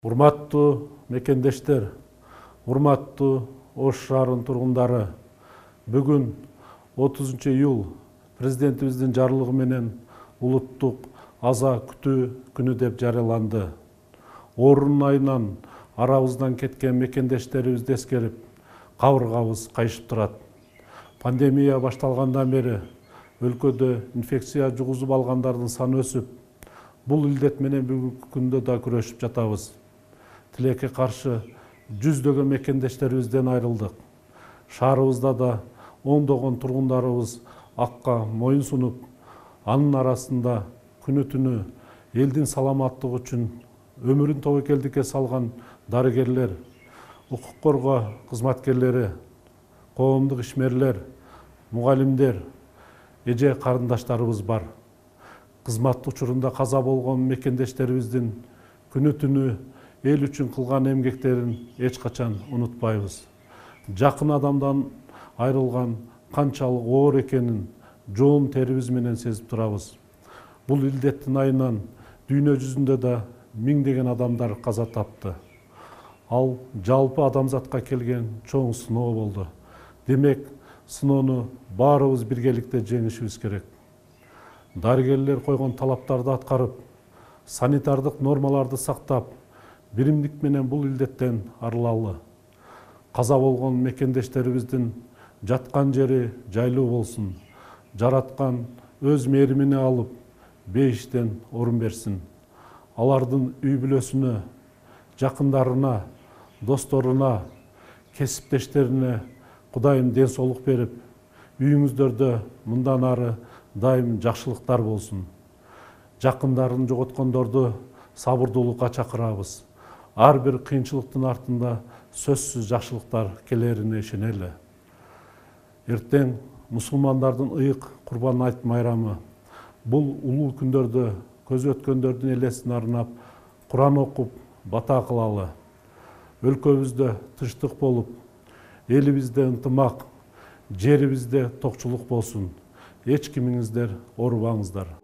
Урматтуу мекендештер, урматтуу Ош шаарынын тургундары, бүгүн 30-июл президентибиздин жарлыгы менен улуттук аза күтүү күнү деп жарыяланды. Орун айынан арабыздан кеткен мекендештерибизди эскерип, кабыргабыз кайышып турат. Пандемия башталгандан бери өлкөдө инфекция жугузуп алгандардын саны өсүп, бул илдет менен бүгүнкү күндө да күрөшүп жатабыз. Тилекке каршы жүздөгөн мекендештерибизден айрылдык. Шаарыбызда да ондогон тургундарыбыз акка моюн сунуп, анын арасында күнү-түнү элдин саламаттыгы үчүн өмүрүн тобокелдикке салган дарыгерлер, укук коргоо кызматкерлери, коомдук ишмерлер, мугалимдер, эже карындаштарыбыз бар. Кызмат учурунда каза болгон мекендештерибиздин күнү-түнү эл үчүн кылган эмгектерин эч качан унутпайбыз. Жакын адамдан айрылган канчалык оор экенин жоон терибиз менен сезип турабыз. Бул илдеттин айынан дүйнө жүзүндө да миңдеген адамдар каза тапты. Ал жалпы адамзатка келген чоң сыноо болду. Демек, сыноону баарыбыз биргеликте жеңишибиз керек. Дарыгерлер койгон талаптарды аткарып, санитардык нормаларды сактап, биримдик менен бул илдеттен арылалы. Каза болгон мекендештерибиздин жаткан жери жайлуу болсун. Жараткан өз мээримине алып, бейиштен орун берсин. Алардын үй бүлөсүнө, жакындарына, досторуна, кесиптештерине Кудайым ден соолук берип, үйүңүздөрдө мындан ары дайым жакшылыктар болсун. Жакындарын жоготкондорду сабырдуулукка чакырабыз. Ар бир кыйынчылыктын артында сөзсүз жакшылыктар келерине ишенели. Эртең мусулмандардын ыйык Курбан айт майрамы. Бул улуу күндөрдө көз өткөндөрдүн элесин арнап, Куран окуп, бата кылалы. Өлкөбүздө тынчтык болуп, элибизде ынтымак, жерибизде токчулук болсун. Эч кимиңиздер оорубаңыздар.